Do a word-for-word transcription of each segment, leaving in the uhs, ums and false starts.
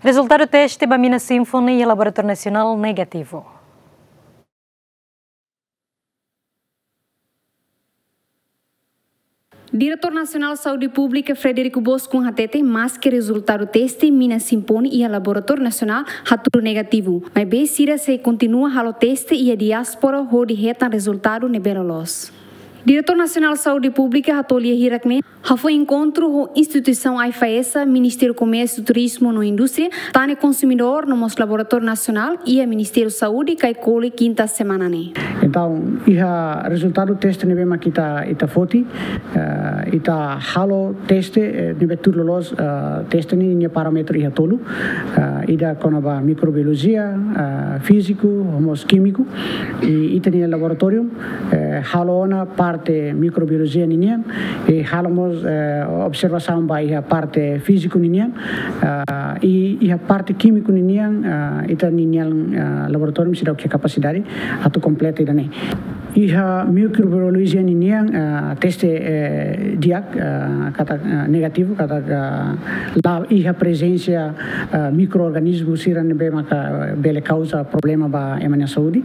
Rezultadu teste ba mina Symphony iha Laboratóriu Nasionál negativu. Diretór Nasionál Saúde Públika Frederico Boscon hateten, maske rezultadu teste mina Symphony iha Laboratóriu Nasionál hatudu negativu, maibé sira sei kontinua halo teste iha diáspora hodi hetan rezultadu ne'ebé loloos. Diretór Nasionál Saúde Públika hato'o lia hirak ne'e hafoin enkontru ho instituisaun AIFAESA, Ministériu Komérsiu, Turizmu no Indústria, Tan Ne'e Konsumidór no mós Laboratóriu Nasionál iha Ministériu Saúde, Caicoli, kinta semana ne'e. Entaun, iha rezultadu teste ne'ebé mak ita, ita foti, eh, ita halo teste, eh, ne'ebé tuir loloos, eh, teste ne'e nia parámetru iha tolu, eh, ida kona-ba mikrobiolojia, eh, fíziku, no mós kímiku. I ita-nia laboratóriu, eh, halo ona parte mikrobiolojia ninian, i halo mós, eh, observasaun ba iha parte fíziku ninian, ah, i iha parte kímiku ninian, ah, ita-nia, ah, laboratóriu seidauk iha kapasidade atu kompleta ida-ne'e. Iha mikrobiolojia ninian, ah, teste, eh, di'ak, ah, katak, ah, negativu, katak, ah, la iha prezensa, ah, mikroorganizmu sira ne'ebé maka bele kauza problema ba ema nia saúde.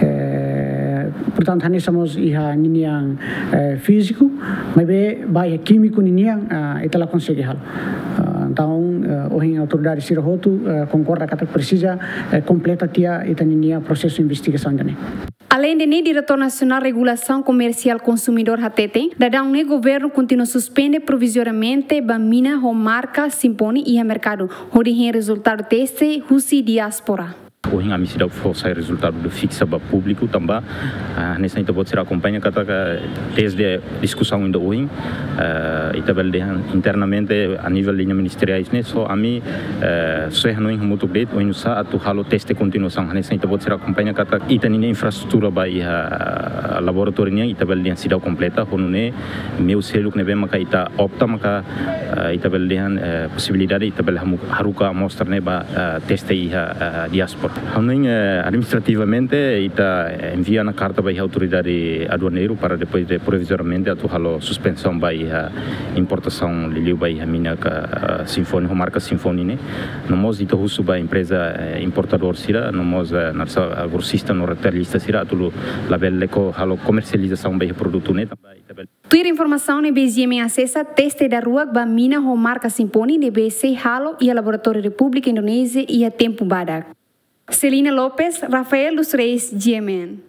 Eh, portantu, hanesan mós iha ninian, eh, fíziku, maibé ba iha kímiku ninian, ah, ita la konsege halo. Ah, entaun, eh, ohin autoridade sira hotu, eh, konkorda katak presiza, eh, kompleta tiha ita-nia prosesu investigasaun ida-ne'e. Aleinde ne'e, Diretór Nasionál Regulasaun Komersiál Konsumidór hateten, daudaun ne'e governu kontinua suspende provizoriamente ba mina ho marka Symphony iha merkadu, hodi hein rezultadu teste husi diáspora. Ohin ami seidauk fó sai rezultadu de fiksa ba públiku tanba, ah, hanesan ita-boot sira akompaña katak teste diskusaun ida ohin, ah, ita bele dehan internamente a nivel liña ministeriais ne'e só ami, eh, só hanoin hamutuk de'it oinsá atu halo teste kontinuasaun. Hanesan ita-boot sira akompaña katak ita-nia infraestrutura ba iha, ah, laboratóriu nian ita bele dehan seidauk kompleta, ho nune'e meiu seluk ne'ebé maka ita opta maka, eh, ita bele dehan, eh, posibilidade ita bele hamu-, haruka amostra ne'e ba, eh, teste iha, eh, diáspora. Hanoin, eh, administrativamente ita, eh, envia ona karta ba iha autoridade aduaneiru para depois de provizoriamente atu halo suspensaun ba iha importasaun liuliu ba iha mina ka, eh, Symphony, ho marka Symphony ne'e. No mós ita husu ba empreza, eh, importadór sira, no mós, eh, naran sá, eh, grosista no retailista sira atu labele ko halo komersializasaun ba iha produtu ne'e. Tuir informasaun ne'ebé GMN asesa, teste daruak ba mina ho marka Symphony ne'ebé sei halo iha laboratóriu Repúblika Indonézia iha tempu badak. Celina Lopes, Rafael dos Reis, GMN.